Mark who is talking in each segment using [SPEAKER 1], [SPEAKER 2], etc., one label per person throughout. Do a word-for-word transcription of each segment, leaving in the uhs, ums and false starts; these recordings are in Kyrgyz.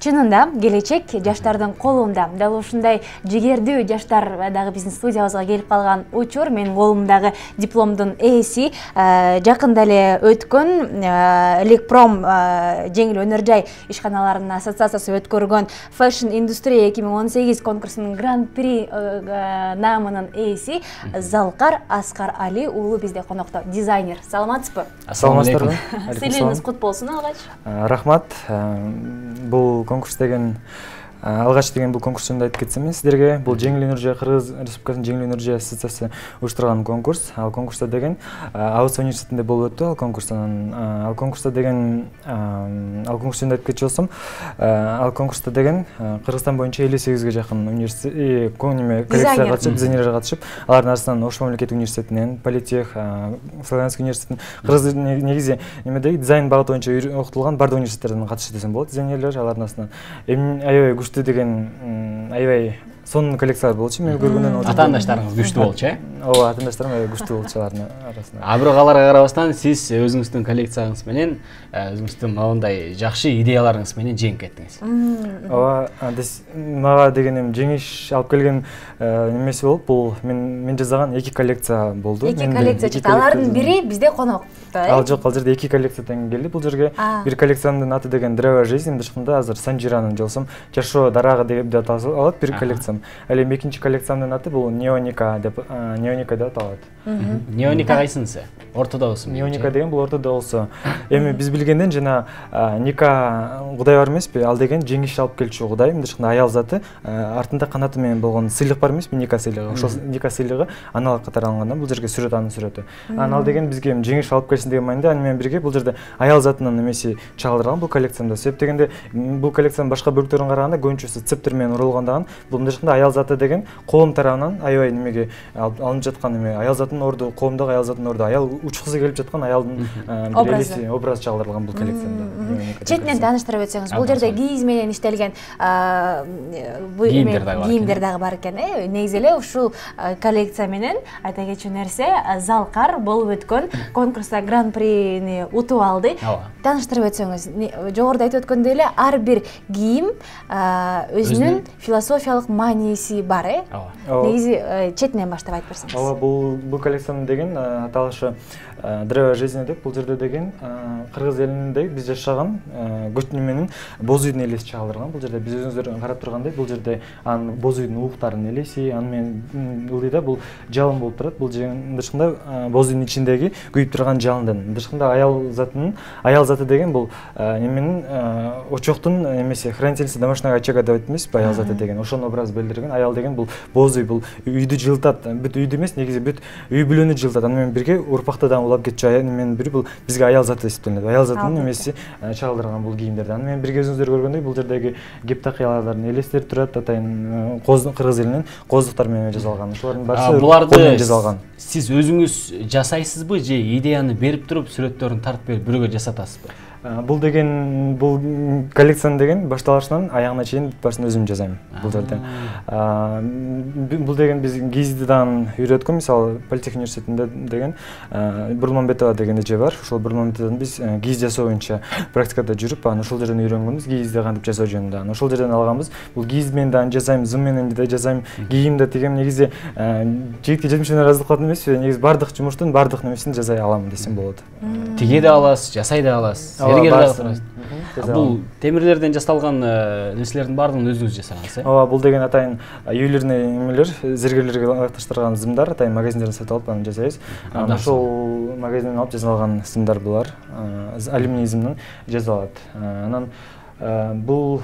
[SPEAKER 1] Чынында келечек жаштардын колунда. Дал ушундай жигердүү жаштар дагы биздин студиябызга келип калган учур. Менин колумдагы дипломдун ээси жакында эле өткөн Элекпром жеңил өнөр жай ишканаларынын ассоциациясы өткөргөн Fashion Industry эки миң он сегиз конкурсунун гран-при наамынын ээси Залкар Аскар Али уулу бизде конокто. Дизайнер. Саламатсызбы?
[SPEAKER 2] Саламатсызбы.
[SPEAKER 1] Сыйлыгыңыз кут болсун алгач.
[SPEAKER 2] Рахмат. Бул конкурс деген алгач деген бул конкурс жөнүндө айтып кетсем сиздерге. Бул жеңил өнөр жай Кыргыз Республикасынын жеңил өнөр жай ассоциациясы уюштурган конкурс. Ал конкурста деген Абыз университетинде болуп өттү. Ал конкурстан ал конкурста деген ал конкурс жөнүндө айтып кетчү болсом, ал конкурста деген Кыргызстан боюнча элүү сегизге жакын университет, кониме коллекция катышып, дизайнерлер катышып, алардын арасынан Ош мамлекеттик университетинен, Политех, Славянский университетинен, Кыргыз негизи немеде дизайн багыты боюнча окутулган бардык университеттерден катышты десем болот. Дизайнерлер алардын арасынан аябай күчтүү деген аябай сонун коллекциялар болчу. Мен көргөндөн
[SPEAKER 3] атаандаштарыңыз күчтүү болчу, э?
[SPEAKER 2] Ооба, атаандаштарым аябай күчтүү болчу алардын арасында.
[SPEAKER 3] А бирок аларга карабастан сиз өзүңүздүн коллекцияңыз менен, өзүңүздүн моундай жакшы идеяларыңыз менен жеңип кеттиңиз.
[SPEAKER 2] Ооба, мага деген эми жеңиш алып келген немеси болуп, бул мен мен жасаган эки коллекция болду.
[SPEAKER 1] Эки коллекция чыкты. Алардын бири бизде конокто, э?
[SPEAKER 2] Ал жок, ал жерде эки коллекциядан келди бул жерге. Бир коллекциянын аты деген Древо жизни, дышкында азыр Санжиранын жолсом Жашоо дарагы деп аталат бир коллекция. Ал эми экинчи коллекциямдын аты бул Неоника деп Неоника деп аталат.
[SPEAKER 3] Неоника кайсынысы? Ортодогусу?
[SPEAKER 2] Неоника деген бул ортодогусу. Эми биз билгенден жана Ника кудай бар эмеспи? Ал деген жеңиш алып келчү кудай, мындайча аял заты, артында канаты менен болгон сыйлык бар эмеспи? Ника сыйлыгы. Ошол Ника сыйлыгы аналог катары алынгандан бул жерге сүрөт, анын сүрөтү. Анан ал деген бизге жеңиш алып келсин деген маанайда, аны менен бирге бул жерде аял затынын эмеси чагылдырган бул коллекциямда. Себеп дегенде бул коллекциянын башка бөлүктөрүнө караганда көбүнчөсү цептер менен урулгандаган, бул мындайча аял заты деген коом тарабынан аябай немеге алынып жаткан эме, аял затынын орду, коомдогу аял затынын орду, аял учкусу келип жаткан аялдын бир элеси, образы чагылдырылган бул коллекциямда.
[SPEAKER 1] Четинен тааныштырып өтсөңүз, бул жерде кийиз менен иштелген кийимдер дагы бар экен, э? Негизи эле ушул коллекция менен айта кетчү нерсе, Залкар болуп өткөн конкурста гран-прини утуп алды. Тааныштырып өтсөңүз, жогоруда айтып өткөндөй эле ар бир кийим өзүнүн философиялык мааниси бар, э? Негизи четинен баштап айтып берсеңиз.
[SPEAKER 2] Ооба, бул бул коллекциянын деген аталышы Древо жизни деп, бул жерде деген кыргыз элинде биз жашаган көчмө менен боз үйдүн элеси чагылдырган. Бул жерде биз өзүңүздөр карап тургандай, бул жерде анын боз үйдүн ууктарынын элеси, аны менен ылдыйда бул жалын болуп турат. Бул дышкында боз үйдүн ичиндеги күйүп турган жалындын. Дышкында аял затынын, аял заты деген бул неменин очоктун эмеси, хранительница домашнего очага деп айтпайсызбы, аял заты деген. Ошонун образы билдирген. Аял деген бул боз үй, бул үйдү жылытат. Бүт үйдү эмес, негизи бүт үй бүлөнү жылытат. Аны менен бирге урпакта да улап кетчү аял менен бири бул бизге аял заты эсептелет. Аял затынын эмеси чагылдырган бул кийимдерди. Аны менен бирге өзүңүздөр көргөндөй, бул жердеги гептакыялардын элестери турат, атайын кыргыз элинин коздуктары менен жасалган. Ошолордун баары кол менен жасалган.
[SPEAKER 3] Сиз өзүңүз жасайсызбы же идеяны берип туруп, сүрөттөрүн тартып берип бирөөгө жасатасызбы?
[SPEAKER 2] Бул деген бул коллекцияны деген башталышынан аягына чейин башын өзүм жасайм бул жерде. Бул деген биз кийизди дагы үйрөткөн, мисалы Политех университетинде деген Бурманбетова деген эже бар. Ошол Бурманбетовдон биз кийиз жасоо боюнча практикада жүрүп, анан ошол жерден үйрөнгөнбүз кийизди кантип жасоо жөнүндө. Анан ошол жерден алганбыз. Бул кийиз менен дагы жасайм, зым менен да жасайм, кийим да тигем. Негизи жигитке жетимиш менен ыраазы кылат эмеспи? Негизи бардык жумуштун бардык нерсесин жасай алам десем болот.
[SPEAKER 3] Тиге да аласыз, жасай да аласыз. Бул темирлерден жасалган нерселердин баардыгын өзүңүз жасагансыз, э?
[SPEAKER 2] Ооба, бул деген атайын ювелирный эмелер, зергерлерге ылайыкташтырган зымдар, атайын магазиндерден сатып алып аны жасайбыз. Анан ошол магазинден алып жасалган зымдар булар, алюминий зымдан жасалат. Анан бул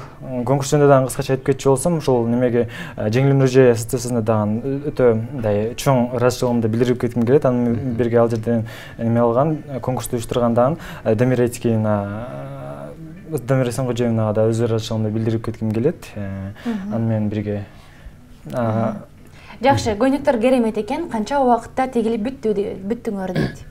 [SPEAKER 2] конкурс жөнүндө дагы кыскача айтып кетчү болсом, ушул немеге жеңил өнөр жай ассоциациясына дагы өтө мындай чоң ыраазычылыгымды билдирип кетким келет. Аны бирге ал жерден эме алган, конкурсту уюштурган дагы Дамира Этикеевна, Дамира Эсенгожоевнага да өз ыраазычылыгымды билдирип кетким келет. Аны менен бирге.
[SPEAKER 1] Жакшы, көйнөктөр керемет экен. Канча убакытта тегилип бүттү бүттүңөр дейт?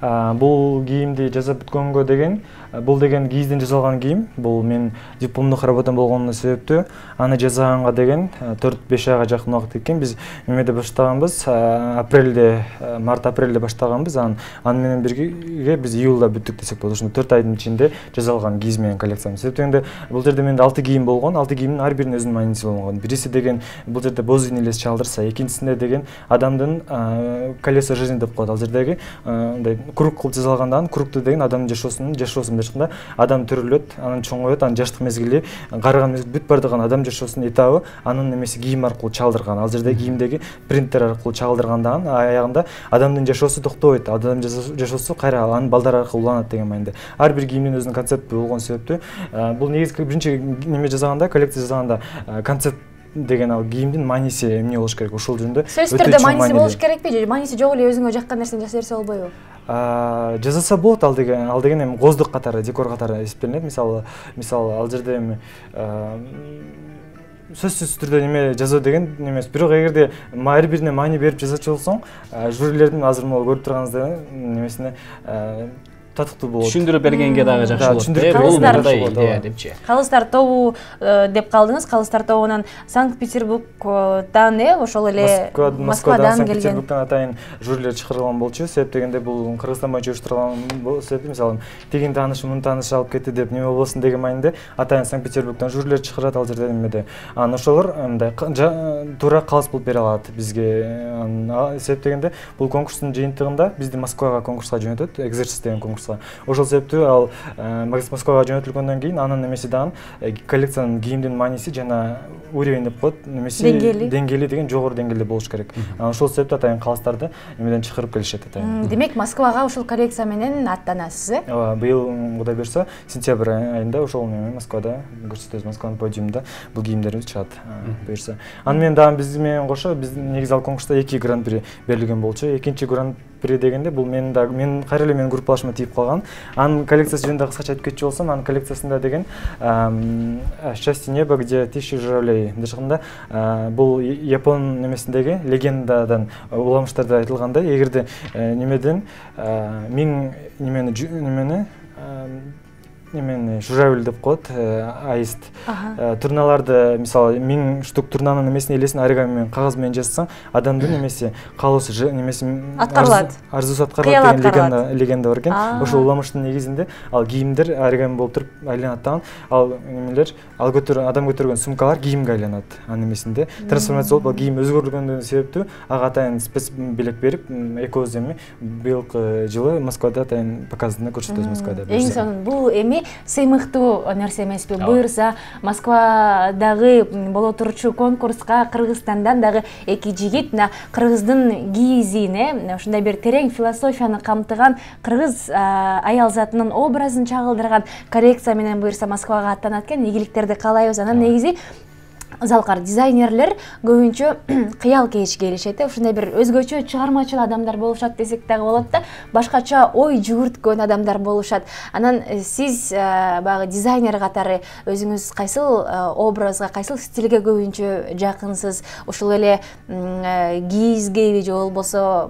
[SPEAKER 2] бул кийимди жасап бүткөнгө деген бул деген кийизден жасалган кийим. Бул мен дипломдук работам болгонуна себептүү. Аны жасаганга деген төрт беш айга жакын убакыт кеткен. Биз эмеде баштаганбыз, апрелде, март-апрелде баштаганбыз. Аны менен бирге биз июлда бүттүк десек болот. Ошондо төрт айдын ичинде жасалган кийиз менен коллекциям. Себептен бул жерде менде алты кийим болгон. алты кийимдин ар биринин өзүнүн мааниси болгон. Бириси деген бул жерде боз үйүн элес чалдырса, экинчисинде деген адамдын колесо жизни деп коет. Ал жердеги мындай круг кылып жасалгандан, кругту деген адамдын жашоосунун жашоосун жашында адам төрөлөт, анан чоңоет, анын жаштык мезгили, карыган мезгил бүт бардыгын адам жашоосунун этабы анын немеси кийим аркылуу чалдырган. Ал жерде кийимдеги принттер аркылуу чалдыргандан аягында адамдын жашоосу токтобойт. Адам жашоосу кайра анын балдары аркылуу уланат деген мааниде. Ар бир кийимдин өзүнүн концепти болгон себептүү бул негизги биринчи неме жасаганда, коллекция жасаганда концепт деген ал кийимдин мааниси эмне болуш керек? Ошол жөнүндө
[SPEAKER 1] сөзсүз түрдө мааниси болуш керекпи же мааниси жок эле өзүңө жаккан нерсени жасай берсе болбойбу?
[SPEAKER 2] Жасаса болот. Ал деген ал деген эми коздук катары, декор катары эсептелинет. Мисалы, мисалы ал жерде эми сөзсүз түрдө неме жазуу деген эмес. Бирок эгерде ар бирине маани берип жасачу болсоң, жюрилердин азыр могу көрүп турганыңыздай немесине татыктуу болот.
[SPEAKER 3] Түшүндүрүп бергенге дагы жакшы болот. Бул мындай идея депчи.
[SPEAKER 1] Калыстар тобу деп калдыңыз. Калыстар тобунан Санкт-Петербургдан э ошол эле Москвадан келген.
[SPEAKER 2] Санкт-Петербургдан атайын жюрилер чакырылган болчу. Себеп дегенде бул Кыргызстан боюнча уюштурулган себеп, мисалы, тигин тааныш, мунун тааныш алып кетти деп неме болбосун деген маанинде атайын Санкт-Петербургдан жюрилер чакырат ал жерде немеде. Анан ошолор мындай туура калыс болуп бере алат бизге. Себеп дегенде бул конкурстун жыйынтыгында бизди Москвага конкурска жөнөтөт, экзерсис деген конкурс. Ошол себептүү ал Москвага жөнөтүлгөндөн кийин анын немеси дагы коллекциянын кийимдин мааниси жана уровень деп коет, немеси деңгээли деген жогору деңгээлде болуш керек. Ошол себептүү атайын калыстарды эмеден чакырып келишет атайын.
[SPEAKER 1] Демек Москвага ушул коллекция менен аттанасыз э?
[SPEAKER 2] Ооба, быйыл Кудай буйрса сентябрь айында ошол эме Москвада көрсөтөбүз, Москванын подиумунда бул кийимдер чыгат буйрса. Аны менен дагы биз менен кошо биздин негизи ал конкурста эки гран-при берилген болчу. Экинчи гран-при дегенде бул менин дагы мен кайра эле менин группалашыма тийип калган. Анын коллекциясы жөнүндө кыскача айтып кетчү болсом, анын коллекциясында деген «Счастье неба, где тысячи журавлей» дешканда бул Япон немесиндеги легендадан уламыштарда айтылгандай, эгерде немеден миң немени немени эмени журавль деп коет, аист. Турналарды, мисалы, миң штук турнанын немесин элесин оригами менен, кагаз менен жазсаң, адамдын немеси каалоосу немеси
[SPEAKER 1] аткарылат.
[SPEAKER 2] Арзусу аткарылат деген легенда бар экен. Ошол уламыштын негизинде ал кийимдер оригами болуп туруп айланат дагы. Ал немелер, ал көтөргөн адам көтөргөн сумкалар кийимге айланат. Анын немесинде трансформация болуп, ал кийим өзгөрүлгөндөн себептүү ага атайын спец белек берип, экөөбүз эми быйылкы жылы Москвада атайын показында көрсөтөбүз Москвада.
[SPEAKER 1] Эң сонун бул эми сыймыктуу нерсе эмеспи? Буюрса Москвадагы боло турчу конкурска Кыргызстандан дагы эки жигит мына кыргыздын кийизине ушундай бир терең философияны камтыган кыргыз аял затынын образын чагылдырган коллекция менен буюрса Москвага аттанат экен. Ийгиликтерди каалайбыз. Анан негизи залкар дизайнерлер көбүнчө кыял кейишке келишет. Ушундай бир өзгөчө чыгармачыл адамдар болушат десек дагы болот да, башкача ой жүгүрткөн адамдар болушат. Анан сиз баягы дизайнер катары өзүңүз кайсыл образга, кайсыл стилге көбүнчө жакынсыз? Ушул эле кийизгеби же болбосо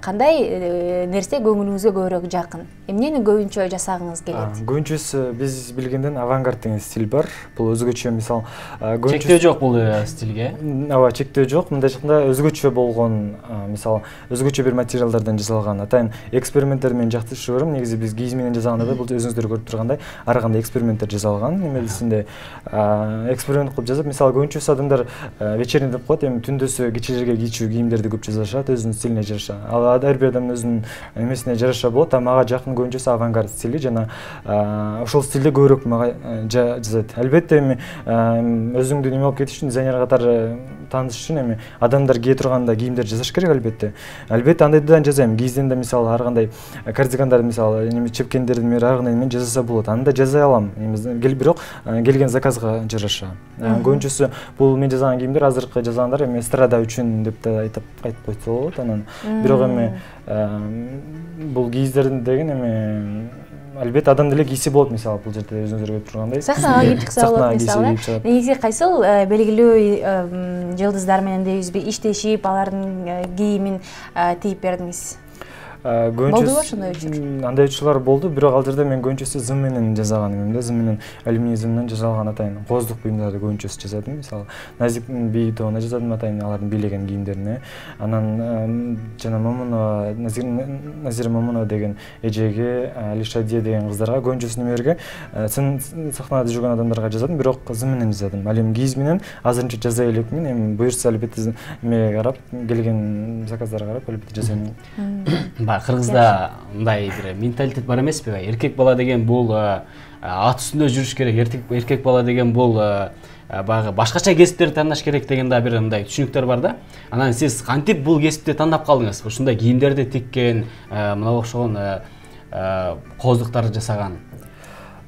[SPEAKER 1] кандай нерсе көңүлүңүзгө көбүрөөк жакын? Эмнени көбүнчө жасагыңыз келет?
[SPEAKER 2] Көбүнчөсү биз билгенден авангард деген стиль бар. Бул өзгөчө, мисал,
[SPEAKER 3] чектөө жок бул стилге.
[SPEAKER 2] Ооба, чектөө жок. Мындай жакында өзгөчө болгон, мисалы, өзгөчө бир материалдардан жасалган атайын эксперименттер мен жакшы көрөм. Негизи биз кийиз менен жасаганда да бул өзүңүздөр көрүп тургандай ар кандай эксперименттер жасалган. Немесинде эксперимент кылып жасап, мисалы, көбүнчөсү адамдар вечерний деп коет, эми түндөсү кечелерге кийчү кийимдерди көп жасашат, өзүнүн стилине жараша. Ал ар бир адамдын өзүнүн эмесине жараша болот, а мага жакын көбүнчөсү авангард стили жана ошол стилде көбүрөөк мага жасайт. Албетте эми өзүңдү неме болуп кетиш үчүн, дизайнер катары тааныш үчүн эми адамдар кие турганда кийимдер жасаш керек албетте. Албетте андайдан жасайм. Кийизден да мисалы ар кандай кардигандарды мисалы эми чепкендерди мен ар кандай менен жасаса болот. Аны да жасай алам. Бирок келген заказга жараша. Көбүнчөсү бул мен жасаган кийимдер азыркы жасагандар эми эстрада үчүн деп да айтып айтып койсо болот. Анан бирок эми бул кийиздердин деген эми албетте адам деле кийсе болот, мисалы, бул жерде өзүңүздөр көрүп тургандай.
[SPEAKER 1] Сахнага кийип чыкса болот, мисалы. Негизи кайсыл белгилүү жылдыздар менен дейбизби иштешип, алардын кийимин тийип бердиңиз? болдубу ошондой учур?
[SPEAKER 2] Андай учурлар болду, бирок ал жерде мен көбүнчөсү зым менен жасаган эмем да, зым менен алюминий зымдан жасалган атайын кооздук буюмдарды көбүнчөсү жасадым. Мисалы Назик бий тобуна жасадым атайын алардын бийлеген кийимдерине. Анан жана Момунова, Назира Момунова деген эжеге, Алишадия деген кыздарга, көбүнчөсү немелерге, сахнада жүргөн адамдарга жазадым, бирок зым менен жазадым. Ал эми кийиз менен азырынча жаза элекмин, эми буюрса албетте эмеге карап, келген заказдарга карап албетте жасайм.
[SPEAKER 3] Баягы кыргызда мындай бир менталитет бар эмеспи? Эркек бала деген бул ат үстүндө жүрүш керек, эркек бала деген бул баягы башкача кесиптерди тандаш керек деген да бир мындай түшүнүктөр бар да. Анан сиз кантип бул кесипти тандап калдыңыз? Ушундай кийимдерди тиккен, мына окшогон кооздуктарды жасаган.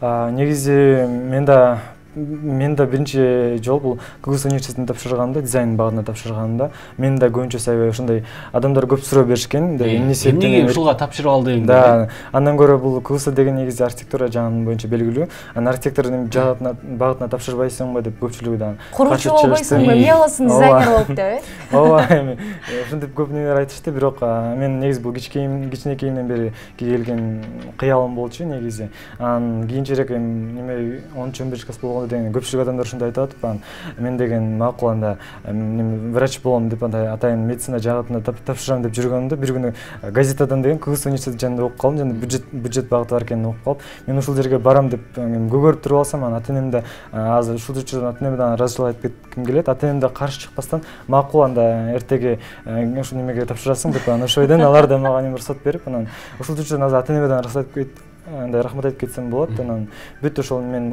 [SPEAKER 2] Негизи мен да мен да биринчи жолу бул КГС университетине тапшырганда, дизайн багына тапшырганда, мен да көбүнчөсү аябай ошондой адамдар көп суроо беришкен.
[SPEAKER 3] Эмне себептен ушуга тапшырып алдың?
[SPEAKER 2] Да, андан көрө бул КГС деген негизи архитектура жагы боюнча белгилүү. Анан архитектурдун жагына багытына тапшырбайсыңбы деп көпчүлүгү да
[SPEAKER 1] куруучу болбойсуңбу, эмне болосуң, дизайнер болуп деп, э?
[SPEAKER 2] Ооба, эми ушинтип көп нелер айтышты, бирок мен негизи бул кичинекейим кичинекейимден бери келген кыялым болчу негизи. Анан кийинчерээк эми неме онунчу он биринчи класс болгондо деген көпчүлүк адамдар ушундай айтып атып, анан мен деген макул анда врач болом деп андай атайын медицина жагына тапшырам деп жүргөнүмдө бир күнү газетадан деген КГС университети жанында окуп калдым, жана бюджет бюджет багыты бар экенин окуп калып, мен ушул жерге барам деп көгөрүп туруп алсам, анан ата-энем да азыр ушул учурда ата-энеме да ыраазычылык айтып кетким келет. Ата-энем да каршы чыкпастан макул анда эртеге ушул немеге тапшырасың деп анан ошойдон алар да мага уруксат берип, анан ушул учурда азыр ата-энеме да уруксат айтып андай рахмат айтып кетсем болот. Анан бүт ошол мен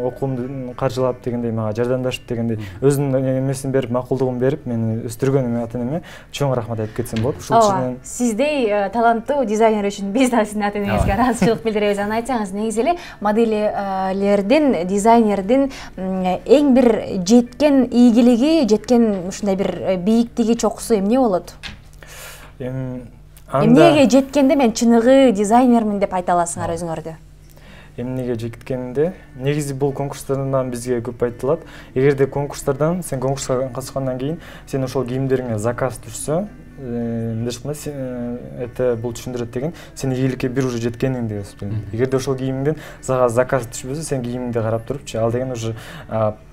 [SPEAKER 2] окуумду каржылап дегендей мага жардамдашып дегендей өзүнүн эмесин берип, макулдугун берип, мени өстүргөн эме ата-энеме чоң рахмат айтып кетсем болот.
[SPEAKER 1] Ушул үчүн сиздей таланттуу дизайнер үчүн биз да сиздин ата-энеңизге ыраазычылык билдиребиз. Анан айтсаңыз, негизи эле модельлердин, дизайнердин эң бир жеткен ийгилиги, жеткен ушундай бир бийиктиги, чокусу эмне болот?
[SPEAKER 2] Эми
[SPEAKER 1] Эмнеге жеткенде мен чыныгы дизайнермин деп айта аласыңар өзүңөрдү?
[SPEAKER 2] Эмнеге жеткенде негизи бул конкурстардан бизге көп айтылат. Эгерде конкурстардан сен конкурска катышкандан кийин сен ошол кийимдериңе заказ түшсө, мындай айтканда это бул түшүндүрөт деген сен ийгиликке бир уже жеткениң деп эсептелет. Эгерде ошол кийимден сага заказ түшпөсө, сен кийимиңди карап турупчу, ал деген уже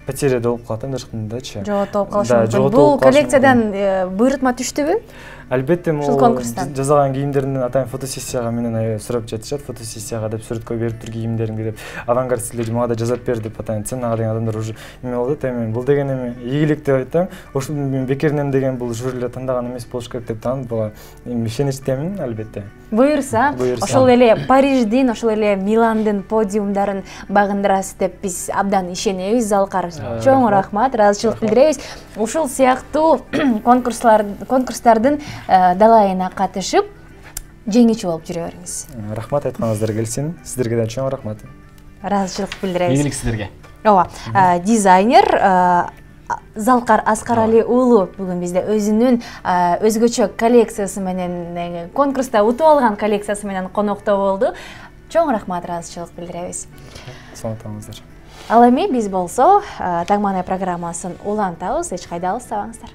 [SPEAKER 2] потеряда болуп калат, мындай айткандачы.
[SPEAKER 1] Жоготуп калышы мүмкүн. Бул коллекциядан буйрутма түштүбү?
[SPEAKER 2] Албетте, могул жасалган кийимдердин атайын фотосессияга менен аябай сурап жатышат. Фотосессияга деп сүрөткө берип тур кийимдериңди деп, авангард стилде мага да жазап бер деп атайын ценага деген адамдар уже эме болот. Эми бул деген эми ийгилик деп айтам. Ошол бекеринен деген бул жюрилер тандаган эмес болуш керек деп таанып, буга ишеничтемин албетте.
[SPEAKER 1] Буюрса, ошол эле Париждин, ошол эле Миландын подиумдарын багындырасыз деп биз абдан ишенебиз. Залкар, чоң рахмат, ыраазычылык билдиребиз. Ушул сыяктуу конкурслар конкурстардын далайына катышып, жеңүүчү болуп жүрө бериңиз.
[SPEAKER 2] Рахмат, айтканыңыздар келсин. Сиздерге да чоң рахмат.
[SPEAKER 1] Ыраазычылык билдиребиз.
[SPEAKER 3] Ийгилик сиздерге.
[SPEAKER 1] Ооба, дизайнер Залкар Аскарали уулу бүгүн бизде өзүнүн өзгөчө коллекциясы менен, конкурста утуп алган коллекциясы менен конокто болду. Чоң рахмат, ыраазычылык билдиребиз.
[SPEAKER 2] Саламатыңыздар.
[SPEAKER 1] Ал эми биз болсо Таң маанай программасын улантабыз, эч кайда алыстабаңыздар.